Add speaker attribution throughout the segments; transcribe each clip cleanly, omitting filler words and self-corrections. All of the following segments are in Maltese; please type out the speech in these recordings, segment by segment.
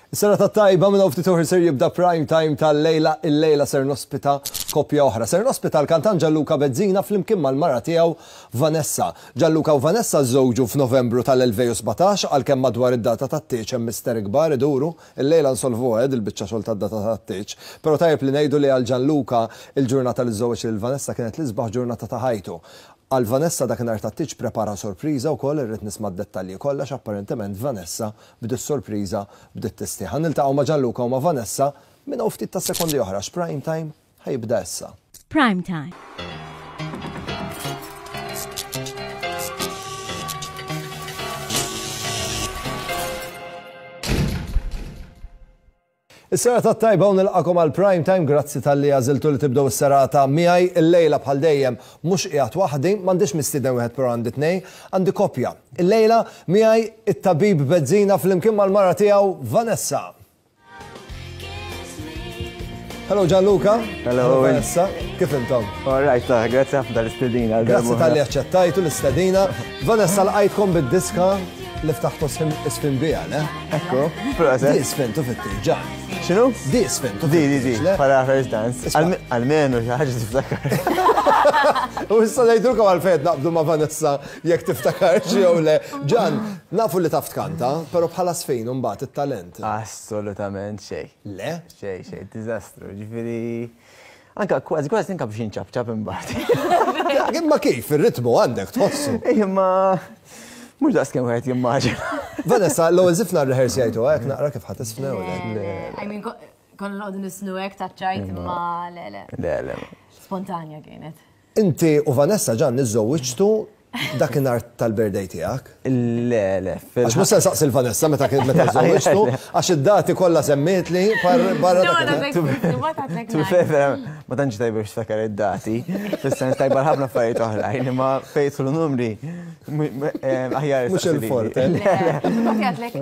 Speaker 1: Is-serata t-tajba minn hawn ftit oħra ser jibda prime time tal-lejla, illejla ser nospita koppja oħra. Ser nospita l-kantant Gianluca Bezzina flimkien mal-mara tiegħu Vanessa. Gianluca u Vanessa żżewġu f'Novembru tal-2017 għalkemm madwar id-data tat-tieġ hemm misteri kbar iduru. Illejla nsolvuha eh dil-biċċa xogħol tad-data tat-tieġ. Però tajjeb li ngħidu li għal Gianluca il-ġurnata li żżewweġ lil Vanessa kienet l-isbaħ ġurnata ta' ħajtu. Għal Vanessa dakinhar tat-tieġ prepara sorpriża wkoll, irrid nisma' d-dettalji kollha għax apparentement Vanessa b'dis-sorpriża bdiet tistħi. Ħa niltaqgħu ma' Gianluca u ma' Vanessa minn hawn ftit tas-sekondi oħra għax Prime Time ħa jibda issa.
Speaker 2: Prime Time.
Speaker 1: Is-serata t-tajba u nilqakom għal Prime Time, grazzi talli għażiltu li tibdew is-serata miegħi. Illejla bħal dejjem mhux qiegħed waħdi, m'għandix mistieden wieħed però għandi tnejn, għandi koppja. Illejla miegħi it-tabib Bezzina flimkien mal-mara tiegħu Vanessa. Hello Gianluca.
Speaker 3: Hello
Speaker 1: Vanessa. Kif intom?
Speaker 3: All right, grazzi ħafna tal-istedina.
Speaker 1: Grazzi talli aċċettajtu l-istedina. Vanessa lqajtkom bid-diska li ftaħtu isfin biha, le?
Speaker 3: Ekku, proset.
Speaker 1: Di sfintu fit-tieġ, ġan.
Speaker 3: X'inhu?
Speaker 1: Di sfintu
Speaker 3: Di, di, di, bħala first dance. Almenu xi ħaġa tiftakar.
Speaker 1: U issa ngħidulkom għalfejn qed naqbdu ma' Vanessa jekk tiftakarx jew le. Ġan, nafu li taf tkanta, però bħala sfin imbagħad it-talent.
Speaker 3: Assolutament xejn.
Speaker 1: Le?
Speaker 3: Xejn, xejn, diżastru. Ġifieri Anka kważi kważi tinka biex inċapċap imbagħad.
Speaker 1: Imma kif, ir-ritmu għandek tħossu.
Speaker 3: Imma mhux daqs kemm wieħed jimmaġina.
Speaker 1: Vanessa, l-ewwel żifna rrehearsjajtu hekk naqra kif ħadd isfnew
Speaker 4: le. I mean, konna noqogħdu nisnu hekk taċ-ċajt imma le le.
Speaker 3: Le le.
Speaker 4: Spontanja kienet.
Speaker 1: Inti u Vanessa Ġanni żżewwiġtu dakinhar tal-birthday tiegħek?
Speaker 3: Le, le.
Speaker 1: Għax mhux se nsaqsi l-Vanessa meta kien meta żżewwiġtu, għax id-dati kollha semmietli barra
Speaker 3: dakinhar. Ma tantx tajba biex tiftakar id-dati, fis-sens tajba għal ħafna affarijiet oħrajn, imma fejn jidħlu numri aħjar.
Speaker 1: Mhux il-forte.
Speaker 4: Le, le. Għadlek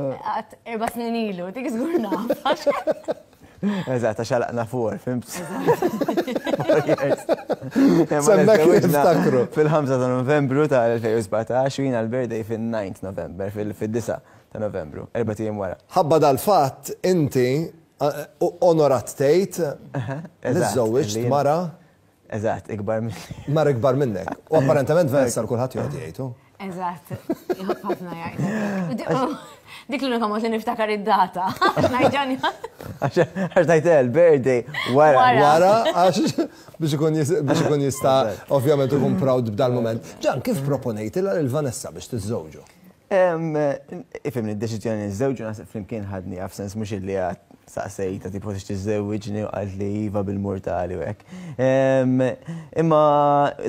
Speaker 4: erba' snin ilu, dik żgur naf.
Speaker 3: Eżatt, għax għalaqna fuq, fimt?
Speaker 1: Semmek niftakru.
Speaker 3: Fil-5 ta' Novembru tal-2017 u jiena l-birthday fil-9 November, fil-9 ta' Novembru, erba' ijiem wara.
Speaker 1: Ħabba dal-fatt inti onorat tgħid li żżewwiġt mara
Speaker 3: Eżatt, ikbar minni.
Speaker 1: Mara ikbar minnek. U apparentement Vanessa l-kulħadd joqgħod jgħidu.
Speaker 4: Eżatt, jħobb ħafna jgħid. Dik l-unika mod li niftakar id-data. Ngħidġani.
Speaker 3: Għax ngħid il-birthday wara.
Speaker 1: Wara, għax biex ikun biex ikun jista' ovvjament ikun proud b'dal moment. Ġan, kif proponejtilha lil Vanessa biex tiżżewġu?
Speaker 3: Ifhimni, d-deċiżjoni li niżżewġu naħseb flimkien ħadniha f'sens mhux illi għad saqsejtha tipo tix tiżżewwiġni u qaltli iva bil-murtali u hekk. Imma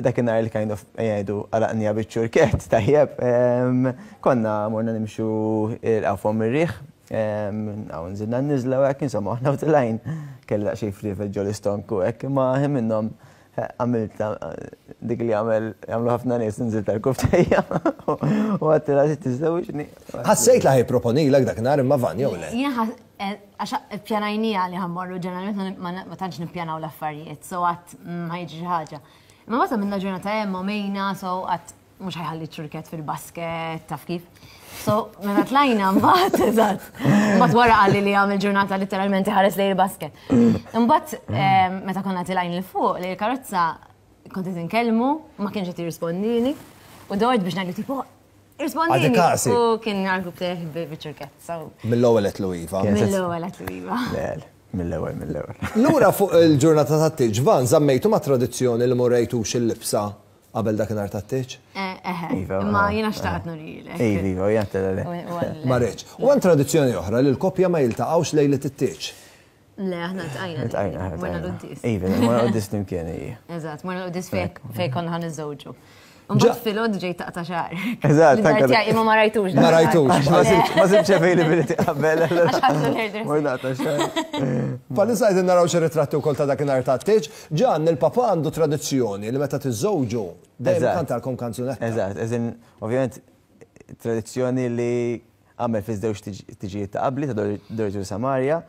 Speaker 3: dakinhar li kind of ejja ngħidu għalaqniha biċ-ċurkett tajjeb, konna morna nimxu il-Qawf Fomm ir-Riħ, hawn nżilna n-niżla u hekk, insomma aħna u tilgħin kelli daqsxejn friefet ġol-istonku u hekk, imma ħin minnhom Għamilt dik li għamel jagħmlu ħafna nies inżilt tal-kuftejja u għedtilha trid tiżżewġni.
Speaker 1: Ħassejt li ħa jipproponilek dakinhar imma Van jew le?
Speaker 4: Jien għax ippjanajniha li ħa mmorru ġeneralment ma tantx nippjanaw l-affarijiet, so għad ma jiġri xi ħaġa. Imma mbagħad għamilna ġurnata hemm u mejna, so għad mhux ħajħalli ċurket fil-basket, taf kif. So, meta tlajna mbagħad, eżatt. Mbagħad wara qalli li għamel ġurnata letteralment iħares lejn il-basket. Imbagħad ehm, meta konna tilajn il fuq li l-karozza kont qed inkellmu, ma kienx qed jirrispondini, u dort biex ngħidu tipo Rispondini. U kien għal teħ biċ-ċurket.
Speaker 1: Mill-ewwel qed iva.
Speaker 4: Mill-ewwel qed iva.
Speaker 3: Mill-ewwel, mill-ewwel.
Speaker 1: Lura fuq il-ġurnata tat-tieġ, Van, żammejtu ma' tradizzjoni li morrejtux il-libsa Qabel dakinhar tat-tieġ?
Speaker 4: Eħe. Iva. Imma jiena xtaqt nurilek.
Speaker 3: Iva, iva, jiena tella le.
Speaker 1: Ma rridx. U hemm tradizzjoni oħra li l-koppja ma jiltaqgħux lejliet it-tieġ.
Speaker 4: Le, aħna ltqajna.
Speaker 3: Ltqajna,
Speaker 4: Morna l-quddies.
Speaker 3: Iva, morna l-quddies flimkien, ija.
Speaker 4: Eżatt, morna l-quddies fejn konna ħa niżżewġu. Mbagħad filgħodu ġejt taqta' xagħrek.
Speaker 3: Eżatt,
Speaker 4: anke. Tiegħi imma ma rajtux.
Speaker 1: Ma rajtux.
Speaker 3: Ma sibx availability qabel.
Speaker 4: Għax ħadtu l-hairdresser.
Speaker 3: Mort naqta' xagħri.
Speaker 1: Bħalissa qegħdin naraw xi ritratti wkoll ta' dakinhar tat-tieġ. Ġann, il-papà għandu tradizzjoni li meta tiżżewġu dejjem ikantalkom kanzunetta.
Speaker 3: Eżatt, as in, ovvjament tradizzjoni li għamel fiż-żewġ tiġijiet ta' qabli, ta' Dorothy u Samaria.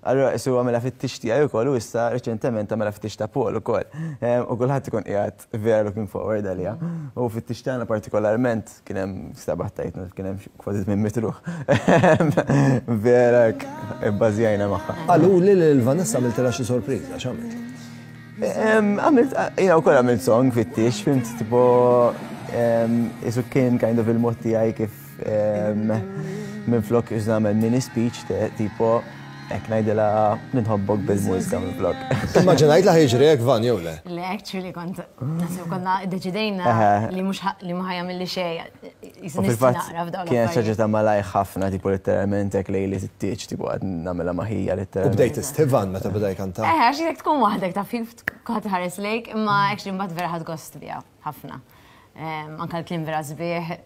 Speaker 3: Allura qisu għamilha fit-tieġ tiegħi wkoll u issa reċentement għamilha fit-tieġ ta' Paul ukoll. U kulħadd ikun qiegħed vera looking forward għaliha. U fit-tieġ tagħna partikolarment kien hemm sabaħ tajtna kien hemm kważi 800 ruħ. Vera hekk ibbażjajna magħha.
Speaker 1: Qaluli li lil Vanessa għamiltilha xi sorpriża, x'għamilt?
Speaker 3: Għamilt, jiena wkoll għamilt song fit-tieġ, fimt tipo isu kien kind of il-mod tiegħi kif Minflok iż nagħmel mini speech tipo hekk ngħidilha ninħobbok bil-mużika minflok.
Speaker 1: Immaġinajt li ħajġri hekk Van jew le?
Speaker 4: Le, actually kont naħseb konna ddeċidejna li mhux li ma ħajamilli xejn.
Speaker 3: Fil-fatt kienet xi ħaġa ta' malajr ħafna tipo letteralment hekk lejliet it-tieġ tipo qed nagħmilha ma' ħija letteralment.
Speaker 1: U bdejt tistħi Van meta beda jkanta?
Speaker 4: Eħe, għax jekk tkun waħdek taf kif kulħadd iħares lejk, imma actually mbagħad vera ħadt gost biha ħafna. Anke l-kliem vera sbieħ.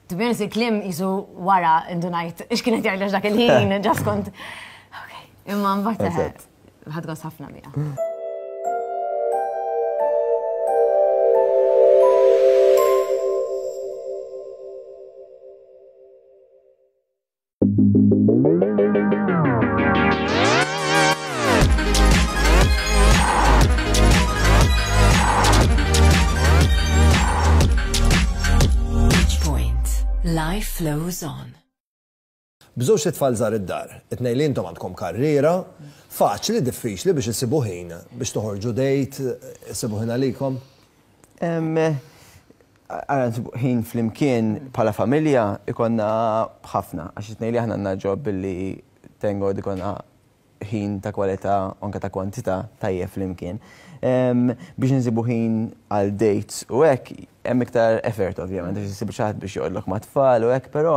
Speaker 4: To be honest, il-kliem jisu wara indunajt x'kien qed jgħidlek dak il-ħin, ġas kont. Imma mbagħad ħadd gost ħafna biha.
Speaker 2: Life flows on.
Speaker 1: B'żewġt itfal żgħar id-dar, it-tnejn li intom għandkom karriera, faċli, diffiċli biex issibu ħin biex toħorġu date, issibu ħin għalikom?
Speaker 3: Ara nsibu ħin flimkien bħala familja ikonna ħafna, għax it-tnejn li aħna għandna ġob billi thank God ikonna ħin ta' kwalità u anke ta' kwantità tajjeb flimkien. Biex insibu ħin għal dates u hekk hemm iktar effort ovvjament għax issib xi ħadd biex joqgħodlok mat-tfal u hekk, però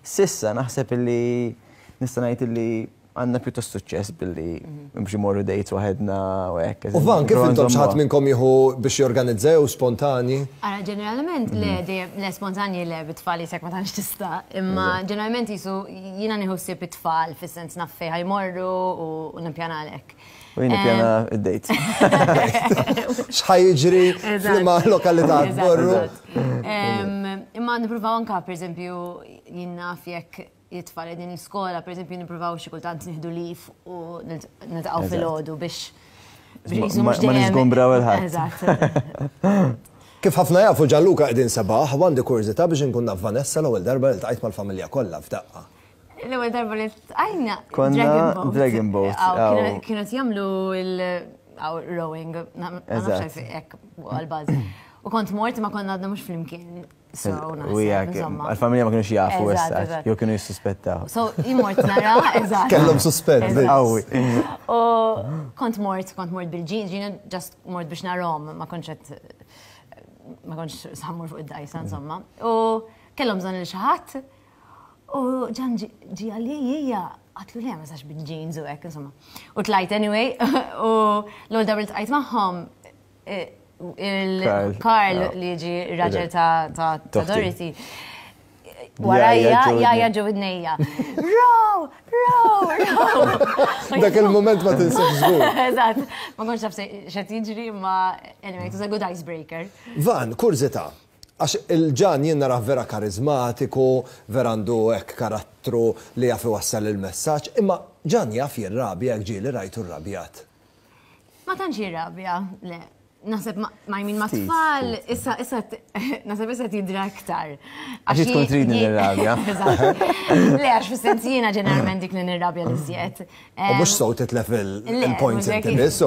Speaker 3: s'issa naħseb illi nista' ngħid illi għandna pjuttost suċċess billi biex imorru dates waħedna u hekk.
Speaker 1: U Van, kif intom xi ħadd minnkom jieħu biex jorganizza jew spontani?
Speaker 4: Ara, ġeneralment le, dejjem le spontanji le bit-tfal jisek ma tantx tista', imma ġeneralment jisu jiena nieħu ħsieb it-tfal fis-sens naf fejn ħa jmorru u nippjana għalhekk.
Speaker 3: U jien nippjana id-date.
Speaker 1: X'ħa jiġri f'liema lokalità tmorru.
Speaker 4: Imma nippruvaw anke pereżempju jien naf jekk it-tfal qegħdin l-iskola, pereżempju nippruvaw xi kultant nieħdu leave u niltaqgħu filgħodu biex
Speaker 3: Ma niżgumbraw il-ħadd.
Speaker 4: Eżatt.
Speaker 1: Kif ħafna jafu Gianluca qegħdin sebaħ u għandi kurżità biex inkun naf Vanessa l-ewwel darba li ltqajt mal-familja kollha f'daqqa.
Speaker 4: L-ewwel darba li ltqajna
Speaker 3: Konna Dragon Boat.
Speaker 4: Kienu qed jagħmlu il-rowing, ma nafx hekk għall-bażi. U kont mort ma konna għadna mhux flimkien.
Speaker 3: U jgħak, għal-familja ma kienux jafu issa, jew kienu jissuspettaw.
Speaker 4: So, jien mort nara, eżatt.
Speaker 1: Kellhom suspett.
Speaker 3: Qawwi.
Speaker 4: U kont mort, kont mort bil-ġin, ġina just mort biex narahom, ma kontx qed ma kontx sammur fuq id-dajsa, insomma. U kellhom bżonn lil xi ħadd. U ġan ġi għalli hija għatlu le ma sax bil-jeans u hekk, insomma. U tlajt anyway, u l-ewwel darba li tqajt magħhom il-Karl li ġi raġel ta' Dorothy. Warajja, jaja ġo widnejja. Row, row, row.
Speaker 1: Dak il-moment ma tinsiex żgur.
Speaker 4: Eżatt, ma kontx naf x'qed jiġri, imma anyway, it was a good icebreaker.
Speaker 1: Van, kurżità, għax il-Ġan jien narah vera karizmatiku, vera għandu hekk karattru li jaf iwassal il-messaġġ, imma Ġan jaf jirrabja jekk ġieli rajtu rrabjat.
Speaker 4: Ma tantx jirrabja, le. Naħseb ma I mean ma tfal, issa issa naħseb issa tidra iktar.
Speaker 3: Għax tkun tridni nirrabja.
Speaker 4: Le, għax fis-sens jiena ġeneralment dik li nirrabja li żjed.
Speaker 1: U mhux sew titlef il-points inti biss.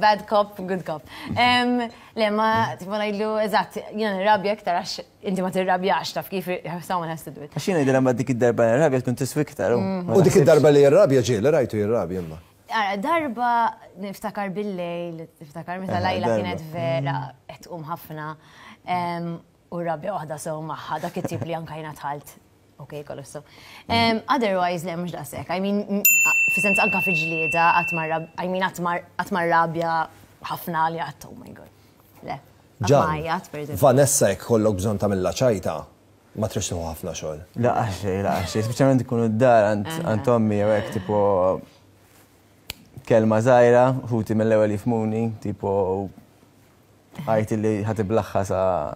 Speaker 4: Bad cop, good cop. Le, ma tipo ngħidlu eżatt, jiena nirrabja iktar għax inti ma tirrabjax taf kif someone has to do it.
Speaker 3: Għax jiena ngħidilha mbagħad dik id-darba nirrabja tkun tiswi iktar.
Speaker 1: U dik id-darba li jirrabja ġieli rajtu jirrabja imma.
Speaker 4: Ara, darba niftakar bil-lejl, niftakar meta Lajla kienet vera qed tqum ħafna u rabja waħda sew magħha dak it-tip li anka jiena dħalt. Ok, kollox sew. Otherwise, le mhux daqshekk. I mean, fis-sens anka fi ġlieda qatt ma I mean qatt ma rrabja ħafna li qatt oh my god. Le.
Speaker 1: Ġan, Vanessa jekk ikollok bżonn tagħmilha ċajta, ma tridx tieħu ħafna xogħol.
Speaker 3: Laqas xejn, laqas xejn, speċjalment ikunu d-dar għand ommi jew hekk tipo kelma żgħira, ħuti mill-ewwel jifhmuni, tipo għajt li ħa tiblaħħa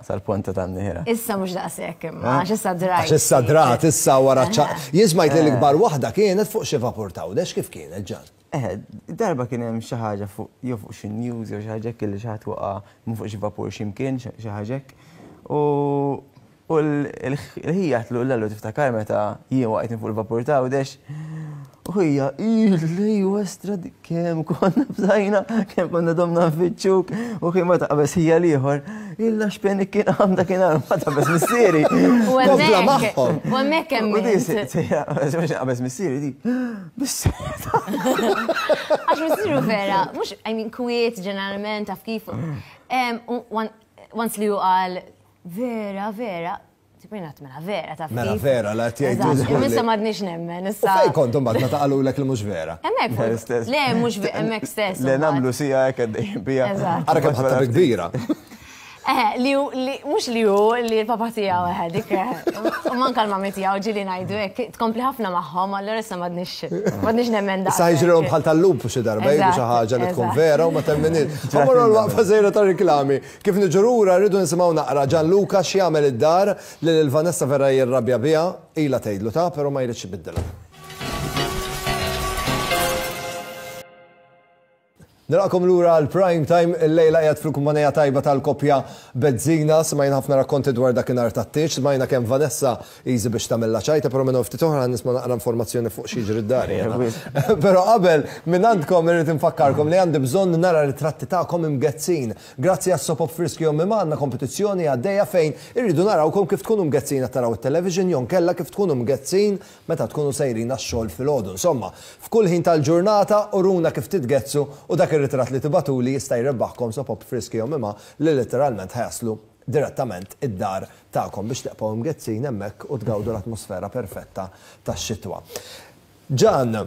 Speaker 3: sal-ponta tan-nihra.
Speaker 4: Issa mhux daqshekk imma, għax issa drajt.
Speaker 1: Għax issa drat, issa wara ċ-ċaqliq. Jien smajt li l-ikbar waħda kienet fuq xi vapur t'Għawdex, kif kienet Ġan?
Speaker 3: Eħe, darba kien hemm xi ħaġa fuq jew fuq xi news jew xi ħaġa hekk li xi ħadd waqa' minn fuq xi vapur xi mkien xi ħaġa hekk. U u l-ħija għedtlu Lellu tiftakar meta jien waqajt minn fuq il-vapur t'Għawdex? U ħija, ejwa estra kemm konna bżajna, kemm konna domna nfittxuk, u kien ma taqbeż ħija l-ieħor, illa x'peni kien għam dakinhar ma taqbeż missieri.
Speaker 4: U hemmhekk, u hemmhekk hemm.
Speaker 3: U di sejra, mhux naqbeż missieri di.
Speaker 4: Għax missieru vera, mhux, I mean, kwiet ġeneralment taf kif. Once li hu qal vera, vera, tipo jien mela vera taf
Speaker 1: Mela vera, la qed jgħidu.
Speaker 4: Imma issa m'għadniex nemmen issa.
Speaker 1: Fejn kontu mbagħad meta qalulek li mhux vera?
Speaker 4: Hemmhekk. Le, mhux hemmhekk stess.
Speaker 3: Le nagħmlu sija hekk għaddejjin bija.
Speaker 1: Ara kemm ħadtha bi kbira.
Speaker 4: Eh, li hu, li, mhux li hu, li l-papa tiegħu, eh, dik, eh, u manka l-mami tiegħu ġieli ngħidu hekk, tkompli ħafna magħhom, allura issa m'għadniex, m'għadniex nemmen
Speaker 1: daqshekk. Issa jiġrilhom bħal tal-lupu xi darba, jgħidu xi ħaġa li tkun vera u ma temminhiex. Ħa mmorru għal waqfa żgħira ta' riklami. Kif niġu lura rridu nisimgħu naqra Gianluca x'jagħmel id-dar li lil Vanessa vera jirrabja biha, ilha tgħidlu ta' però ma jridx ibiddilha. Nilqakom lura għal Prime Time, illejla qiegħed fil-kumpanija tajba tal-koppja Bezzina, smajna ħafna rakkonti dwar dakinhar tat-tieġ, smajna kemm Vanessa easy biex tagħmilha ċajta, però minn hawn ftit oħra nisma' naqra informazzjoni fuq x'jiġri d-dar jiena. Però qabel, minn għandkom irrid infakkarkom li għandi bżonn nara ritratti tagħkom imgezzin. Grazzi għas-Sopop Friski Ommi Ma għandna kompetizzjoni għaddejja fejn irridu narawkom kif tkunu mgezzin qed taraw it-television jew nkella kif tkunu mgezzin meta tkunu sejrin għax-xogħol filgħodu. Insomma, f'kull ħin tal-ġurnata uruna kif titgezzsu u dak ir-ritratt li tibagħtuli jista' jrebbaħkom sopop friski jew mimgħa li litteralment ħa jaslu direttament id-dar tagħkom biex tibqgħu imgezzin hemmhekk u tgawdu l-atmosfera perfetta tax-xitwa. Ġan,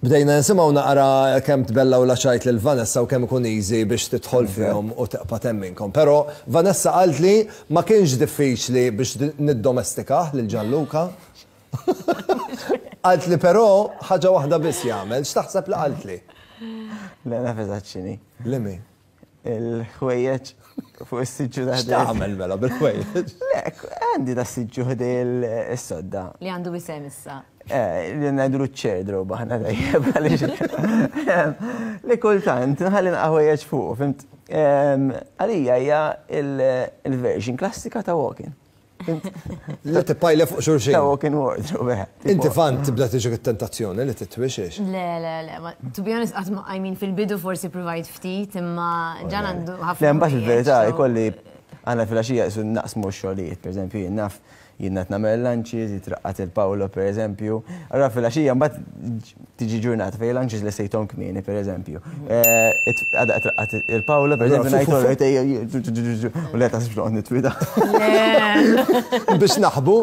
Speaker 1: Bdejna nisimgħu naqra kemm tbellaw l-għaċajt lil Vanessa u kemm ikun easy biex tidħol fihom u tibqa' temminkom. Però Vanessa qaltli ma kienx diffiċli biex niddomestikah lil Gianluca. Qaltli però ħaġa waħda biss jagħmel. X'taħseb li qaltli?
Speaker 3: Le naf eżatt x'inhi.
Speaker 1: Liemi?
Speaker 3: Il-ħwejjeġ fuq is-siġġu ta'
Speaker 1: X'tagħmel mela bil-ħwejjeġ?
Speaker 3: Le, għandi da siġġu ħdej is-sodda.
Speaker 4: Li għandu isem issa.
Speaker 3: Eh, li ngħidulu ċ-chair drobe aħna dejjem għaliex. Li kultant nħalli naqgħa ħwejjeġ fuq, fimt? Għalija hija il-version klassika ta' walk-in.
Speaker 1: Li tippajla fuq xulxin.
Speaker 3: Ta' walk-in wardrobe. Eh,
Speaker 1: Inti fan tibda tiġik it-tentazzjoni li titwixiex.
Speaker 4: Le, le, le, to be honest, I mean, fil-bidu forsi provajt ftit, imma ġan għandu ħafna.
Speaker 3: Le, mbagħad il-verità jkolli għandna fil-għaxija naqsmu x-xogħlijiet, per eżempju, jien naf Jien qed nagħmel lunches, jitraqqad il-Paolo pereżempju. Allura filgħaxija mbagħad tiġi ġurnata fejn lunches lestejthom kmieni pereżempju. Għada qed traqqad il-Paolo pereżempju ngħid u le taħsibx noqgħod nitwida.
Speaker 1: Biex naħbu?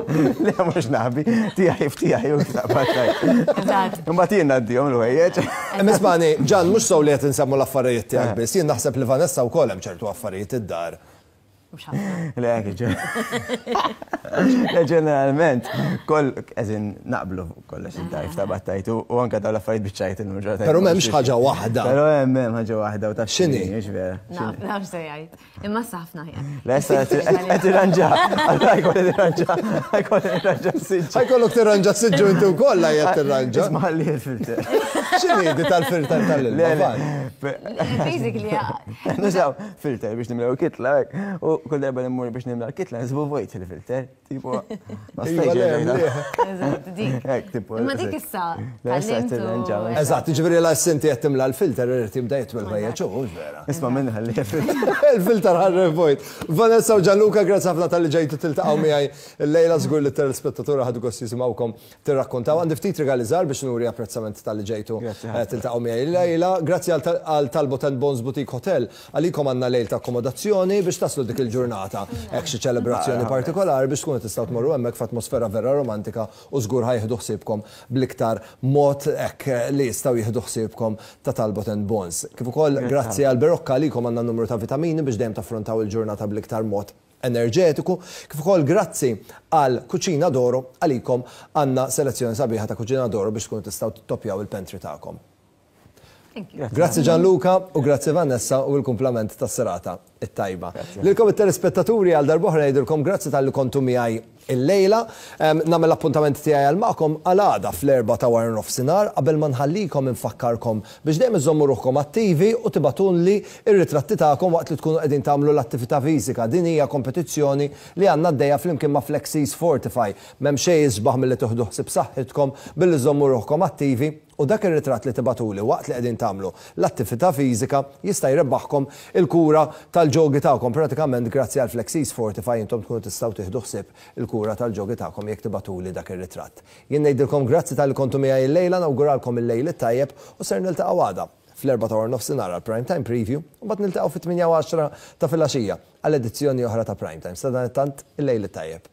Speaker 3: Le mhux naħbi, tiegħi f'tiegħi u taqbad tajt. Imbagħad jien ngħaddihom l-ħwejjeġ.
Speaker 1: Ismani, Ġan, mhux sew li qed insemmu l-affarijiet tiegħek biss, jien naħseb li Vanessa wkoll hemm ċertu affarijiet id-dar.
Speaker 4: Mhux ħafna.
Speaker 3: Le, Le, ġeneralment, koll, eżin, naqblu kollox id-dajf ta' battajtu u anka dawn l-affarijiet biċ-ċajt illum ġurnata.
Speaker 1: Però m'hemmx ħaġa waħda.
Speaker 3: Però hemm hemm ħaġa waħda u taf
Speaker 1: x'inhi.
Speaker 3: Mhux vera.
Speaker 4: Naf, naf se jgħid. Imma issa ħafna ħjar.
Speaker 3: Le, issa qed tirranġa. Allura jkolli tirranġa. Jkolli tirranġa s-siġġu.
Speaker 1: Ħajkollok tirranġa s-siġġu inti wkoll la jgħid tirranġa.
Speaker 3: Isma' li l-filter.
Speaker 1: X'inhi di tal-filter tal-ilma?
Speaker 4: Basically,
Speaker 3: Nużaw filter biex nimlew kitla, hekk. U kull darba li mmur biex nimla l-kitla, nsibu vojt il-filter. Tipo, ma
Speaker 1: Iva,
Speaker 3: stajtx
Speaker 1: le,
Speaker 3: erġajna.
Speaker 4: Eżatt, dik.
Speaker 3: Hekk, tipo.
Speaker 4: Imma dik issa
Speaker 3: Le, issa
Speaker 4: tgħallimt u-
Speaker 3: tirranġa.
Speaker 1: Eżatt, jiġifieri la s-sinti qed timla l-filter irid jibda jitwi l-ħwejjeġ hu, hux vera.
Speaker 3: Isma' minn ħalli filter.
Speaker 1: Il-filter ħarre vojt. Vanessa u Gianluca, grazzi ħafna talli ġejtu tiltaqgħu miegħi llejla, żgur li t-telespettaturi ħadu gost jisimgħukom tirrakkontaw. Għandi ftit rigali żgħar biex nuri apprezzament talli ġejtu tiltaqgħu miegħi illejla. Grazzi għal Talbot and Bones Boutique Hotel. Għalikom għandna lejl ta' akkomodazzjoni biex taslu dik il-ġurnata hekk xi ċelebrazzjoni partikolari biex tkunu tistgħu tmorru hemmhekk f'atmosfera vera romantika u żgur ħa jieħdu ħsiebkom bl-iktar mod hekk li jistgħu jieħdu ħsiebkom ta' Talbot and Bones. Kif ukoll grazzi għal Berocca għalikom għandna numru ta' vitamini biex dejjem taffrontaw il-ġurnata bl-iktar mod enerġetiku, kif ukoll grazzi għal Cucina d'Oro għalikom għandna selezzjoni sabiħa ta' Cucina d'Oro biex tkunu tistgħu tittoppjaw il-pantry tagħkom.
Speaker 4: Thank you.
Speaker 1: Grazzi Gianluca u grazzi Vanessa u l-kumplament tas-serata it-tajba. Lilkom it-telespettaturi għal darb'oħra ngħidilkom grazzi talli kontu miegħi illejla. Nagħmel l-appuntament tiegħi għal magħkom għal għada fl-erbgħa ta' wara nofsinhar. Qabel ma nħallikom infakkarkom biex dejjem iżżommu ruħkom attivi u tibgħatulli r-ritratti tagħkom waqt li tkunu qegħdin tagħmlu l-attività fiżika. Din hija kompetizzjoni li għandna għaddejja flimkien ma' Flexies Fortify. M'hemm xejn isbaħ milli tieħdu ħsieb saħħitkom billi żżommu ruħkom attivi u dak ir-ritratt li tibgħatuli waqt li qegħdin tagħmlu l-attività fiżika jista' jrebbaħkom il-kura tal-ġogi tagħkom. Pratikament grazzi għal Flexies Fortify intom tkunu tistgħu tieħdu ħsieb il-kura tal-ġogi tagħkom jekk tibgħatuli dak ir-ritratt. Jien ngħidilkom grazzi talli kontu miegħi illejla, nawguralkom il-lejl it-tajjeb u ser niltaqgħu għada fl-erbgħa ta' waranofsinhar għal Prime Time Preview u mbagħad niltaqgħu fit-tmienja u għaxra ta' filgħaxija għal edizzjoni oħra ta' Prime Time. Sadanittant, il-lejl it-tajjeb.